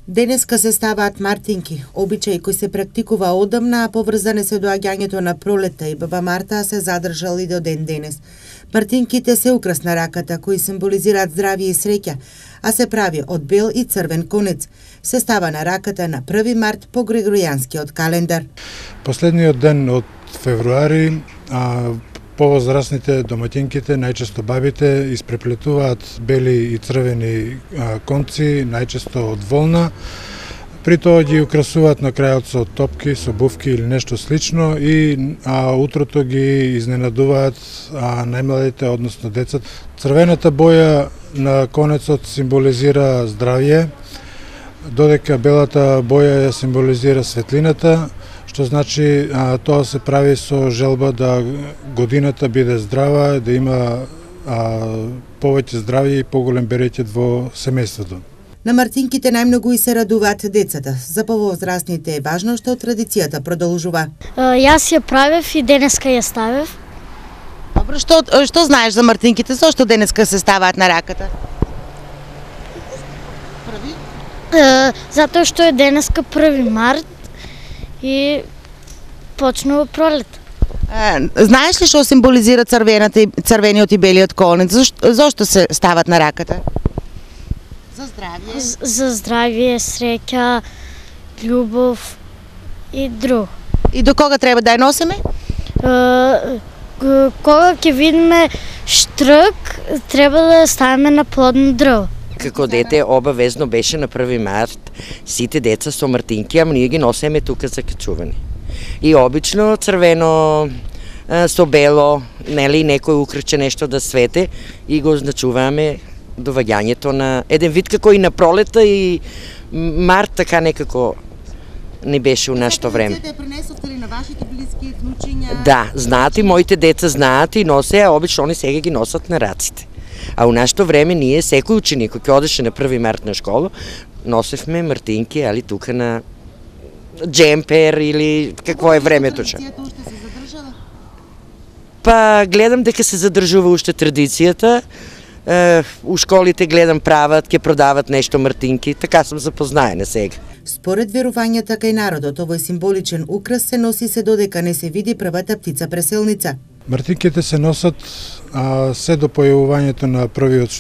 Денеска се ставаат мартинки, обичај кој се практикува одамна, а поврзане се доаѓањето на пролетта и баба Марта се задржали до ден денес. Мартинките се украс на раката, кои символизираат здравје и среќа, а се прави од бел и црвен конец. Се става на раката на 1 март по Григоријанскиот календар. Последниот ден од февруари, повозрастните домаќинките, најчесто бабите, испреплетуваат бели и црвени конци, најчесто од волна. При тоа ги украсуваат на крајот со топки, со бувки или нешто слично и утрото ги изненадуваат најмладите, односно децата. Црвената боја на конецот символизира здравје, додека белата боја ја символизира светлината, што значи тоа се прави со желба да годината биде здрава, да има повеќе здравје и поголем берекет во семејството. На мартинките најмногу и се радуваат децата. За повозрастните е важно што традицијата продолжува. Јас ја правев и денеска ја ставев. Добро, што знаеш за мартинките? Зошто денеска се ставаат на раката? Затоа што е денеска 1 март и почнува пролет. Знаеш ли што символизира црвениот и белиот конец? Зошто се стават на раката? За здравје. За здравје, среќа, љубов и друг. И до кога треба да ја носиме? Кога ќе видиме штрк, треба да ја ставиме на плодно дрво. Како дете обавезно беше на 1 март сите деца со мартинки, ама ние ги носиме тука за качување. И обично црвено со бело, нели некој украче нешто да свете и го означуваме доваѓањето на еден вид како и на пролета и март, така некако не беше у нашето време. Пренесовте ли на вашите блиски, внучиња? Да, знаат и моите деца знаат и носе, а обично они сега ги носат на раците. А у нашето време ние, секој ученик кој одеше на 1 март на школа, носевме мартинки, али тука на джемпер или какво е времето. Традицијата уште се задржала? Па гледам дека се задржува уште традицијата. У школите гледам прават, ќе продават нешто мартинки, така сум запознаена сега. Според верувањата кај народот, овој символичен украс се носи се додека не се види првата птица преселница. Мартинките се носат се до појавувањето на првиот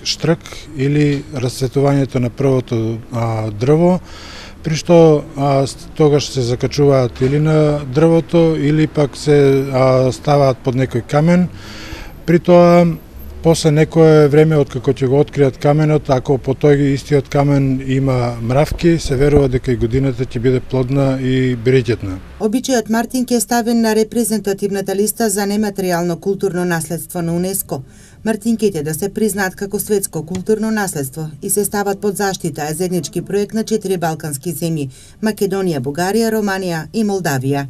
штрк или расцветувањето на првото дрво, при што тогаш се закачуваат или на дрвото или пак се ставаат под некој камен. При тоа после некое време откако ќе го откријат каменот, ако по тој истиот камен има мравки, се верува дека и годината ќе биде плодна и берекетна. Обичајот мартинки е ставен на репрезентативната листа за нематеријално културно наследство на УНЕСКО. Мартинките да се признаат како светско културно наследство и се стават под заштита е заеднички проект на 4 балкански земји – Македонија, Бугарија, Романија и Молдавија.